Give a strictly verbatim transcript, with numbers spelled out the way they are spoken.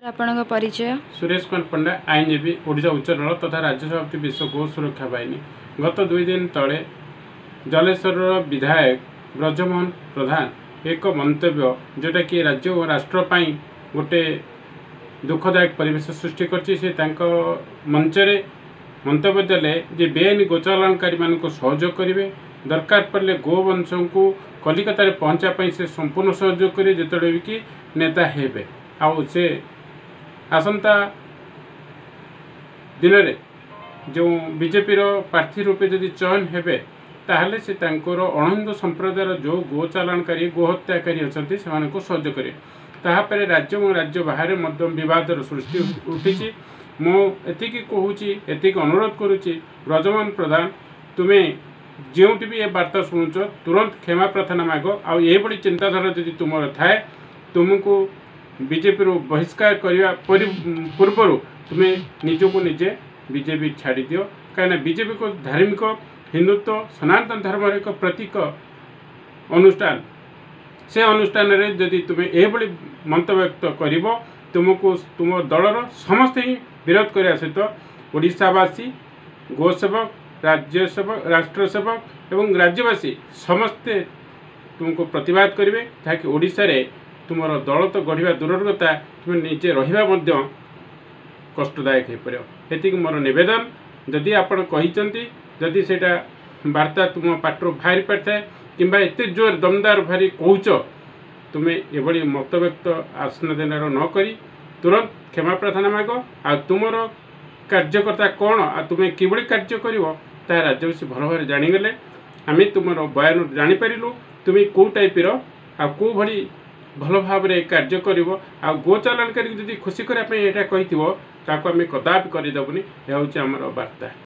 ଆପଣଙ୍କ ପରିଚୟ ସୁରେଶ କୁମାର ପଣ୍ଡା ଆଇନଜୀବୀ ଓଡ଼ିଶା ଉଚ୍ଚ ନ୍ୟାୟାଳୟ ତଥା ରାଜ୍ୟ ସଭାପତି ବିଶ୍ୱ ଗୋ ସୁରକ୍ଷା ବାହିନୀ ଗତ ଦୁଇ ଦିନ ତଳେ ଜଲେଶ୍ୱରର ବିଧାୟକ ବ୍ରଜମୋହନ ପ୍ରଧାନ ଏକ ମନ୍ତବ୍ୟ ଯେଉଁଟାକି ରାଜ୍ୟ ଓ ରାଷ୍ଟ୍ର ପାଇଁ ଗୋଟେ ଦୁଃଖଦାୟକ ପରିବେଶ ସୃଷ୍ଟି କରିଛି ସେ ତାଙ୍କ ମଞ୍ଚରେ ମନ୍ତବ୍ୟ ଦେଲେ ଯେ ବେଆଇନ ଗୋଚାଲାଣକାରୀମାନଙ୍କୁ ସହଯୋଗ କରିବେ ଦରକାର ପଡ଼ିଲେ ଗୋବଂଶଙ୍କୁ କଲିକତାରେ ପହଞ୍ଚିବା ପାଇଁ ସେ ସମ୍ପୂର୍ଣ୍ଣ ସହଯୋଗ କରିବେ ଯେତେବେଳେ କି ନେତା ହେବେ ଆଉ ସେ ଆସନ୍ତା ଦିନରେ ଯେଉଁ ବିଜେପିର ପ୍ରାର୍ଥୀ ରୂପେ ଯଦି ଚୟନ ହେବେ ତାହେଲେ ସେ ତାଙ୍କର ଅଣହିନ୍ଦୁ ସମ୍ପ୍ରଦାୟର ଯେଉଁ ଗୋ ଚାଲାଣକାରୀ ଗୋହତ୍ୟାକାରୀ ଅଛନ୍ତି ସେମାନଙ୍କୁ ସହଯୋଗ କରିବେ ତାହାପରେ ରାଜ୍ୟ ଏବଂ ରାଜ୍ୟ ବାହାରେ ମଧ୍ୟ ବିବାଦର ସୃଷ୍ଟି ଉଠିଛି ମୁଁ ଏତିକି କହୁଛି ଏତିକି ଅନୁରୋଧ କରୁଛି ବ୍ରଜମୋହନ ପ୍ରଧାନ ତୁମେ ଯେଉଁଠି ବି ଏ ବାର୍ତ୍ତା ଶୁଣୁଛ ତୁରନ୍ତ କ୍ଷମା ପ୍ରାର୍ଥନା ମାଗ ଆଉ ଏହିଭଳି ଚିନ୍ତାଧାରା ଯଦି ତୁମର ଥାଏ ତୁମକୁ ବିଜେପିରୁ ବହିଷ୍କାର କରିବା ପରି ପୂର୍ବରୁ ତୁମେ ନିଜକୁ ନିଜେ ବିଜେପି ଛାଡ଼ିଦିଅ କାହିଁକିନା ବିଜେପିକୁ ଧାର୍ମିକ ହିନ୍ଦୁତ୍ୱ ସନାତନ ଧର୍ମର ଏକ ପ୍ରତୀକ ଅନୁଷ୍ଠାନ ସେ ଅନୁଷ୍ଠାନରେ ଯଦି ତୁମେ ଏହିଭଳି ମନ୍ତବ୍ୟକ୍ତ କରିବ ତୁମକୁ ତୁମ ଦଳର ସମସ୍ତେ ହିଁ ବିରୋଧ କରିବା ସହିତ ଓଡ଼ିଶାବାସୀ ଗୋସେବକ ରାଜ୍ୟ ସେବକ ରାଷ୍ଟ୍ର ସେବକ ଏବଂ ରାଜ୍ୟବାସୀ ସମସ୍ତେ ତୁମକୁ ପ୍ରତିବାଦ କରିବେ ଯାହାକି ଓଡ଼ିଶାରେ ତୁମର ଦଳ ତ ଗଢ଼ିବା ଦୂରର କଥା ତୁମେ ନିଜେ ରହିବା ମଧ୍ୟ କଷ୍ଟଦାୟକ ହୋଇପାରିବ ଏତିକି ମୋର ନିବେଦନ ଯଦି ଆପଣ କହିଛନ୍ତି ଯଦି ସେଇଟା ବାର୍ତ୍ତା ତୁମ ପାଟିରୁ ବାହାରି ପାରିଥାଏ କିମ୍ବା ଏତେ ଜୋର ଦମଦାର ଭାରି କହୁଛ ତୁମେ ଏଭଳି ମତବ୍ୟକ୍ତ ଆସନ ଦିନର ନ କରି ତୁରନ୍ତ କ୍ଷମା ପ୍ରାର୍ଥନା ମାଗ ଆଉ ତୁମର କାର୍ଯ୍ୟକର୍ତ୍ତା କ'ଣ ଆଉ ତୁମେ କିଭଳି କାର୍ଯ୍ୟ କରିବ ତାହା ରାଜ୍ୟବାସୀ ଭଲ ଭାବରେ ଜାଣିଗଲେ ଆମେ ତୁମର ବୟାନରୁ ଜାଣିପାରିଲୁ ତୁମେ କେଉଁ ଟାଇପ୍ର ଆଉ କେଉଁ ଭଳି ଭଲ ଭାବରେ କାର୍ଯ୍ୟ କରିବ ଆଉ ଗୋ ଚାଲାଣକାରୀକୁ ଯଦି ଖୁସି କରିବା ପାଇଁ ଏଇଟା କହିଥିବ ତାକୁ ଆମେ କଦାପି କରିଦେବୁନି ଏହା ହେଉଛି ଆମର ବାର୍ତ୍ତା